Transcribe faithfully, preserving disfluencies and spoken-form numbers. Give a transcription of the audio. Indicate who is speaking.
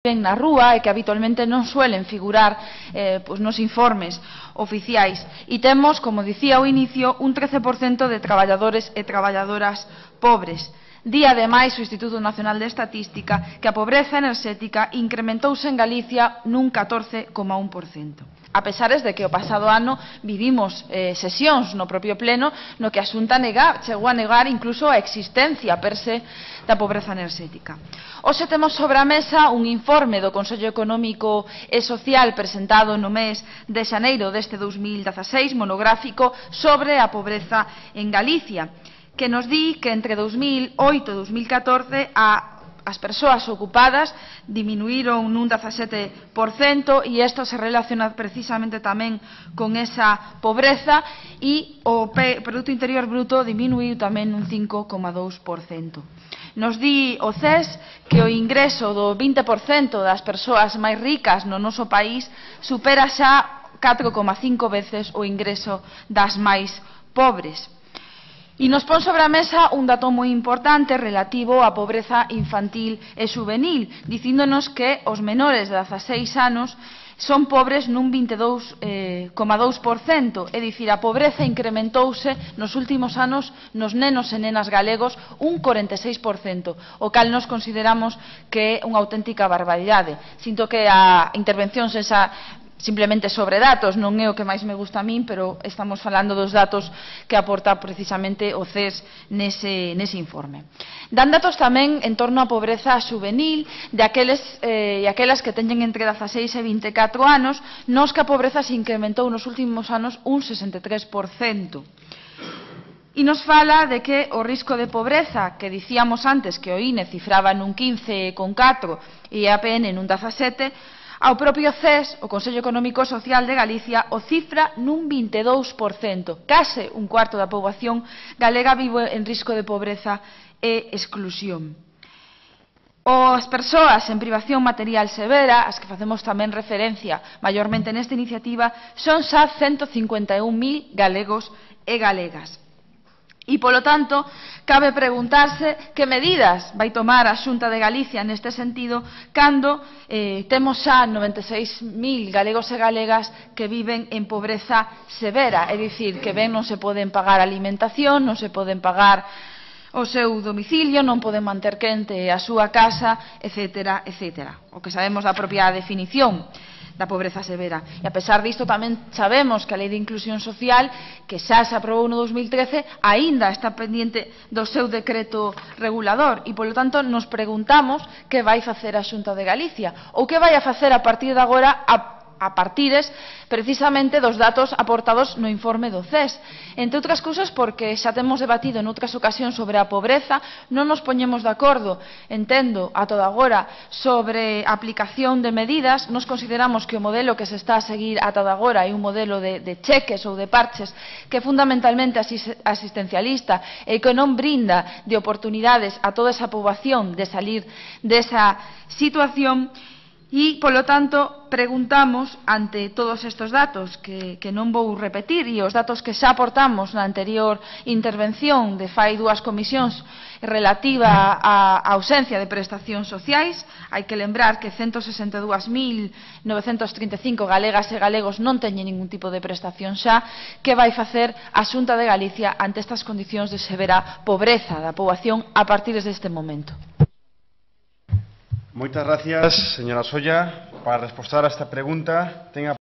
Speaker 1: viven na rúa e que habitualmente non suelen figurar eh, pues, nos informes oficiais. E temos, como dicía ao inicio, un trece por cento de traballadores e traballadoras pobres. Di, ademais, o Instituto Nacional de Estatística que a pobreza enerxética incrementouse en Galicia nun catorce coma un por cento. A pesares de que o pasado ano vivimos eh, sesións no propio pleno no que a Xunta nega, chegou a negar incluso a existencia per se da pobreza enerxética. Hoxe temos sobre a mesa un informe do Consello Económico e Social presentado no mes de xaneiro deste dous mil dezaseis, monográfico sobre a pobreza en Galicia, que nos di que entre dous mil oito e dous mil catorce a as persoas ocupadas diminuíron nun dezasete por cento e isto se relaciona precisamente tamén con esa pobreza e o Produto Interior Bruto diminuiu tamén un cinco coma dous por cento. Nos di o C E S que o ingreso do vinte por cento das persoas máis ricas no noso país supera xa catro coma cinco veces o ingreso das máis pobres. E nos pon sobre a mesa un dato moi importante relativo á pobreza infantil e juvenil, dicíndonos que os menores de dezaseis anos son pobres nun vinte e dous coma dous por cento, é dicir, a pobreza incrementouse nos últimos anos nos nenos e nenas galegos un corenta e seis por cento, o cal nos consideramos que é unha auténtica barbaridade. Sinto que a intervención esa simplemente sobre datos, non é o que máis me gusta a min, pero estamos falando dos datos que aporta precisamente o C E S nese, nese informe. Dan datos tamén en torno á pobreza juvenil de aqueles eh, e aquelas que teñen entre dezaseis e vinte e catro anos, nos que a pobreza se incrementou nos últimos anos un sesenta e tres por cento. E nos fala de que o risco de pobreza, que dicíamos antes que o I N E cifraba nun quince coma catro e a P N nun dezasete, ao propio C E S, o Consello Económico e Social de Galicia, o cifra nun vinte e dous por cento. Case un cuarto da poboación galega vive en risco de pobreza e exclusión. As persoas en privación material severa, as que facemos tamén referencia maiormente nesta iniciativa, son xa ciento cincuenta e un mil galegos e galegas. E, polo tanto, cabe preguntarse que medidas vai tomar a Xunta de Galicia neste sentido cando eh, temos xa noventa e seis mil galegos e galegas que viven en pobreza severa, é dicir, que ben non se poden pagar alimentación, non se poden pagar o seu domicilio, non poden manter quente a súa casa, etcétera, etcétera. O que sabemos da propia definición da pobreza severa. E a pesar disto tamén sabemos que a Lei de Inclusión Social, que xa se aprobou no dous mil trece, aínda está pendiente do seu decreto regulador e, polo tanto, nos preguntamos que vai facer a Xunta de Galicia ou que vai a facer a partir de agora a a partires precisamente dos datos aportados no informe do C E S. Entre outras cousas porque xa temos debatido en outras ocasións sobre a pobreza, non nos poñemos de acordo, entendo, a toda agora, sobre a aplicación de medidas. Nos consideramos que o modelo que se está a seguir a toda agora é un modelo de, de cheques ou de parches que é fundamentalmente asistencialista e que non brinda de oportunidades a toda esa poboación de salir desa situación. E, polo tanto, preguntamos, ante todos estes datos, que, que non vou repetir, e os datos que xa aportamos na anterior intervención de fai dúas comisións relativa á ausencia de prestacións sociais, hai que lembrar que ciento sesenta e dous mil novecentos trinta e cinco galegas e galegos non teñen ningún tipo de prestación xa. Que vai facer a Xunta de Galicia ante estas condicións de severa pobreza da poboación a partir deste momento?
Speaker 2: Muchas gracias, señora Solla. Para responder a esta pregunta, tenga